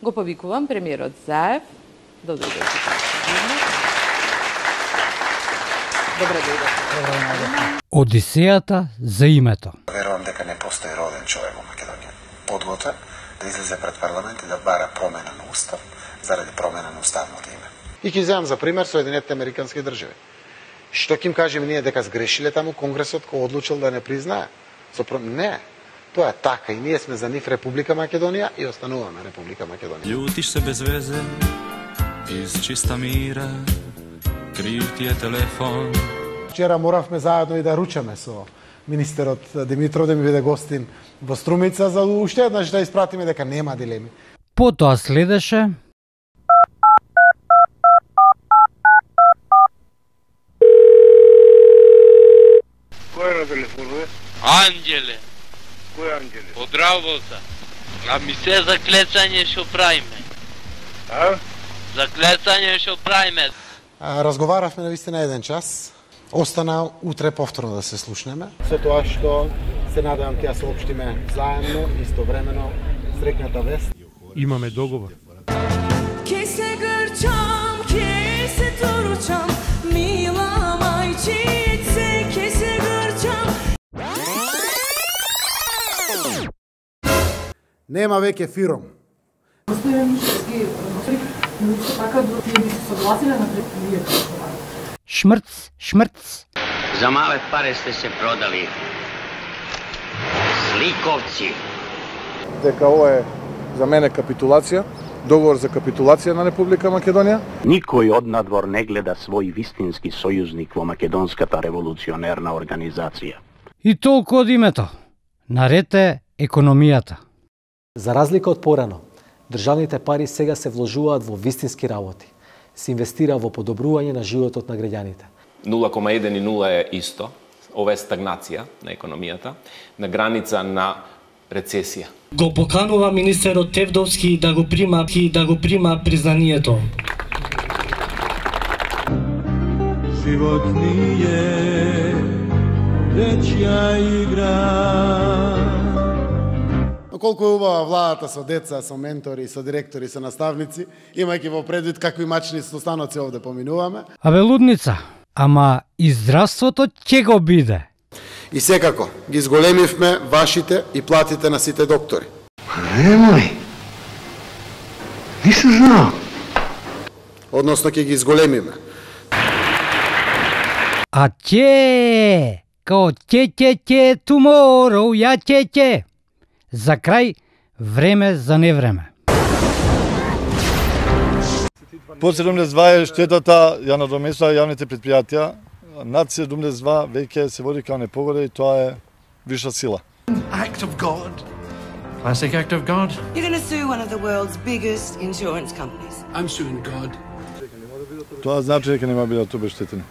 го повикувам премиерот Заев да дојде. Добре дојде. Одисејата за името. Верувам дека не постои роден човек во Македонија подготвен да излезе пред парламент и да бара промена на устав заради промена на уставното име. И ќе земам за пример Соединетите Американски држави. Што ќе им кажеме ние дека сгрешиле таму Конгресот кој одлучил да не признае? Не, тоа е така и ние сме за нив Република Македонија и остануваме Република Македонија. Ljutiš se bez veze, iz čista mira, kriv ti je telefon. Вчера моравме заедно и да ручаме со министерот Димитров да ми биде гостин во Струмица за уште еднаш да испратиме дека нема дилеми. Потоа следеше Кој на телефонува? Анđеле. Кој Анđеле? Од работа. А ми се за клецање што правиме. А? За клецање што правиме. Разговаравме на вистина еден час. Остана утре повторно да се слушнеме. Со тоа што се надевам ќе ја соопштиме заедно, истовремено, среќната вест. Имаме договор. Ке се грчам, ке се туручам, мила мајчице, ке се грчам. Нема веќе фиром. Господин Мишевски, така да би се согласиле на предпријето. шмрц, шмрц. За мале паре сте се продали. Сликовци. Дека ова е за мене капитулација, договор за капитулација на Република Македонија. Никој од надвор не гледа свој вистински сојузник во македонската револуционерна организација. И толку од името. Наред е економијата. За разлика од порано, државните пари сега се вложуваат во вистински работи. Се инвестира во подобрување на животот на граѓаните. 0,1 и 0 е исто. Ова е стагнација на економијата, на граница на рецесија. Го поканува министерот Тевдовски да го прима признанието. Живот ни е дечја игра. Колку е убава владата со деца, со ментори, со директори, со наставници, имајќи во предвид какви мачни состаноци овде поминуваме. Абе лудница, ама и здравството ќе го биде. И секако, ги зголемивме вашите и платите на сите доктори. Немој. Нисам знал. Односно ќе ги зголемиме. А ќе, као ќе, tomorrow, ја ќе. За крај, време за невреме. По 72 штетата ја надомесува јавните предпријатија. Над 72 веќе се води као непогода и тоа е виша сила. Act of God. Classic act of God. You're going to sue one of the world's biggest insurance companies. I'm suing God. Тоа значи дека нема бидат обештетени.